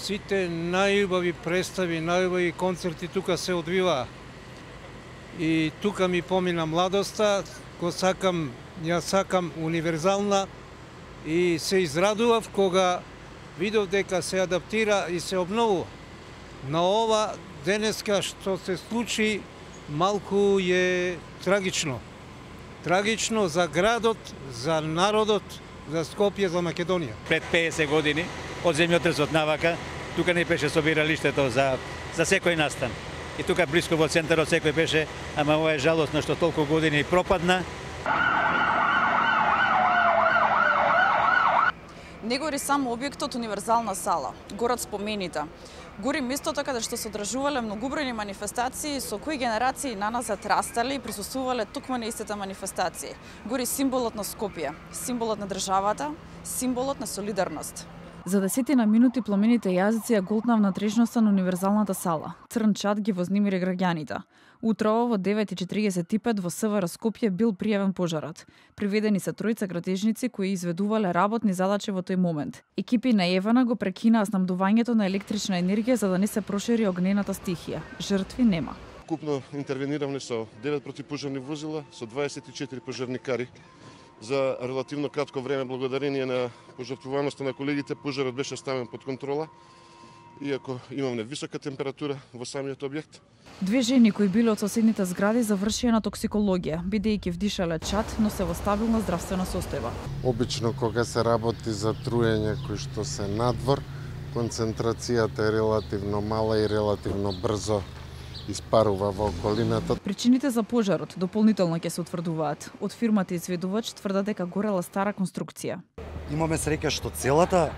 сите најубави представи, најубави концерти тука се одвива. И тука ми помина младоста, јас сакам универзална и се израдував кога видов дека се адаптира и се обновува. На ова денеска што се случи малку е трагично. Трагично за градот, за народот, за Скопје, за Македонија. Пред 50 години од земјотресот навака, тука не беше собиралиштето за секој настан. И тука блиско во центарот секој беше, ама ова е жалосно што толку години пропадна. Не гори само објектот универзална сала, горат споменита. Гори местото каде што се одржувале многубројни манифестации со кои генерации наназад растале и присуствувале токму на истите манифестации. Гори символот на Скопје, символот на државата, символот на солидарност. За 10 минути пламените јазици ја голтнав натрежноста на универзалната сала. Црн чад ги вознемири граѓаните. Утрово во 9:45 во СВР Скопје бил пријавен пожарот. Приведени се тројца градежници кои изведувале работни задачи во тој момент. Екипи на Евана го прекинаа снабдувањето на електрична енергија за да не се прошири огнената стихија. Жртви нема. Купно интервениравме со 9 противпожарни возила, со 24 пожарникари. За релативно кратко време, благодарение на пожртвуваноста на колегите, пожарот беше ставен под контрола, иако имаме висока температура во самиот објект. Две жени кои биле од соседните згради завршија на токсикологија, бидејќи вдишале чад, но се во стабилна здравствена состојба. Обично кога се работи за труење кои што се надвор, концентрацијата е релативно мала и релативно брзо испарува во околината. Причините за пожарот дополнително ќе се утврдуваат. Од фирмата изведувач тврдат дека горела стара конструкција. Имаме среќа што целата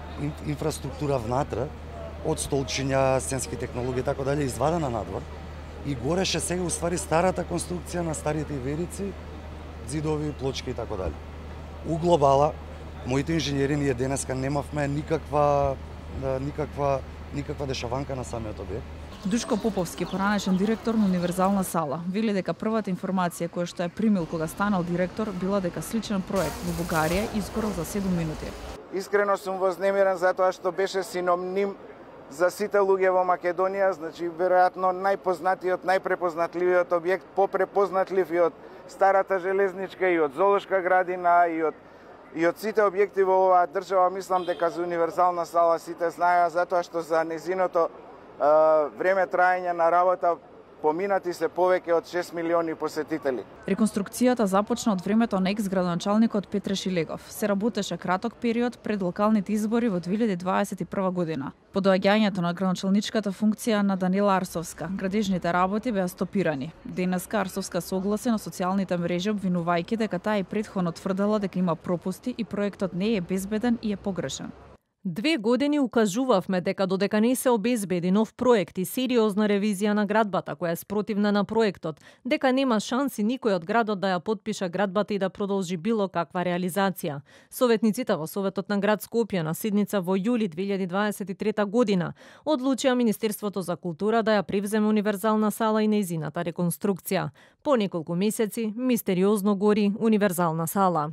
инфраструктура внатре, од столчиња, сценски технологии и така дале, извадена надвор и гореше сега уствари старата конструкција на старите иверици, ѕидови, плочки и така дале. У глобала, моите инженери ние денеска немавме никаква дешаванка на самиот објект. Душко Поповски, поранешен директор на универзална сала, вели дека првата информација која што ја примил кога станал директор била дека сличен проект во Бугарија изгорел за 7 минути. Искрено сум вознемирен затоа што беше синоним за сите луѓе во Македонија, значи веројатно најпознатиот, најпрепознатливиот објект, попрепознатлив и од старата железничка и од зоолошка градина и од сите објекти во оваа држава. Мислам дека за универзална сала сите знаеа затоа што за незиното време траење на работа поминати се повеќе од 6 милиони посетители. Реконструкцијата започна од времето на екс-градоначалникот Петре Шилегов. Се работеше краток период пред локалните избори во 2021 година. По доаѓањето на градоначалничката функција на Данила Арсовска, градежните работи беа стопирани. Денеска Арсовска согласи на социјалните мрежи обвинувајќи дека таа и претходно тврдела дека има пропусти и проектот не е безбеден и е погрешен. 2 години укажувавме дека додека не се обезбеди нов проект и сериозна ревизија на градбата која е спротивна на проектот, дека нема шанси никој од градот да ја потпише градбата и да продолжи било каква реализација. Советниците во Советот на град Скопје на седница во јули 2023 година одлучија Министерството за култура да ја превземе универзална сала и нејзината реконструкција. По неколку месеци мистериозно гори универзална сала.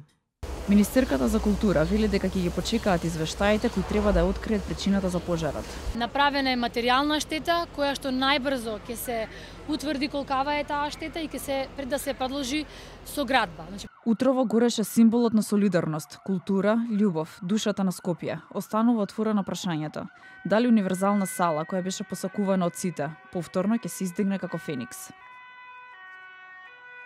Министерката за култура вели дека ќе ги почекаат извештаите кои треба да ја откријат причината за пожарот. Направена е материјална штета која што најбрзо ќе се утврди колкава е таа штета и ќе се пред да се продолжи со градба. Утрово гореше символот на солидарност, култура, љубов, душата на Скопје. Останува отворено прашањето. Дали универзална сала која беше посакувана од сите, повторно ќе се издигне како феникс?